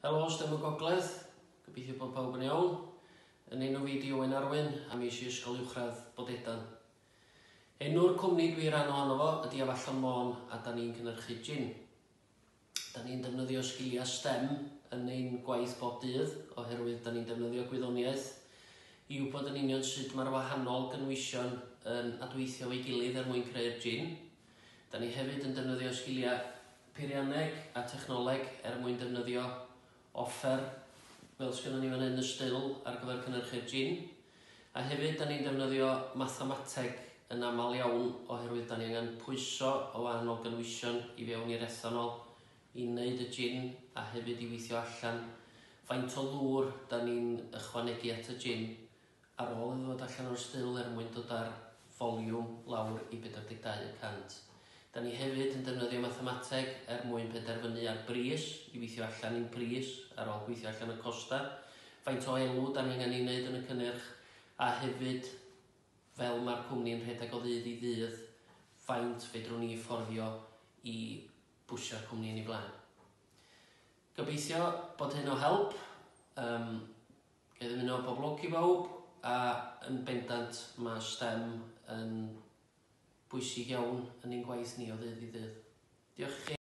Helo STEM y Gogledd, gobeithio bod pawb yn iawn. Yn enw fi 'di Owen Arwyn a mi es i Ysgol Uwchradd Bodedan. Enw'r cwmni dwi ran ohono fo ydi Afallon Môn a 'da ni'n cynhyrchu jin. 'Da ni'n defnyddio sgiliau STEM yn ein gwaith bob dydd oherwydd 'da ni'n defnyddio gwyddoniaeth i wybod yn union sut mae'r wahanol gynwysion yn adweithio efo'i gilydd er mwyn creu'r jin. 'Da ni hefyd yn defnyddio sgiliau peirianneg a technoleg er mwyn defnyddio offer fel sgynnon ni fan hyn, y still ar gyfer cynhyrchu'r jin. A hefyd 'da ni'n defnyddio mathemateg yn aml iawn oherwydd 'da ni angen pwyso o wahanol gynwysion i fewn i'r ethanol i wneud y jin a hefyd i weithio allan faint o ddŵr 'da ni'n ychwanegu at y jin ar ôl iddo ddod allan o'r still er mwyn dod â'r foliwm lawr i 42 y cant. Da ni hefyd yn defnyddio mathemateg er mwyn penderfynu ar bris, i weithio allan ein pris ar ôl gweithio allan y costau, faint o elw da ni angen ei wneud yn y cynnyrch, a hefyd, fel mae'r cwmni yn rhedeg o ddydd i ddydd, faint fedrwn ni fforddio i bwsio'r cwmni yn ei flaen. Gobeithio bod hyn o help. Um, Ga i ddymuno pob lwc i bawb a yn bendant mae stem yn bwysig iawn yn ein gwaith ni o ddydd i ddydd. Diolch i chi.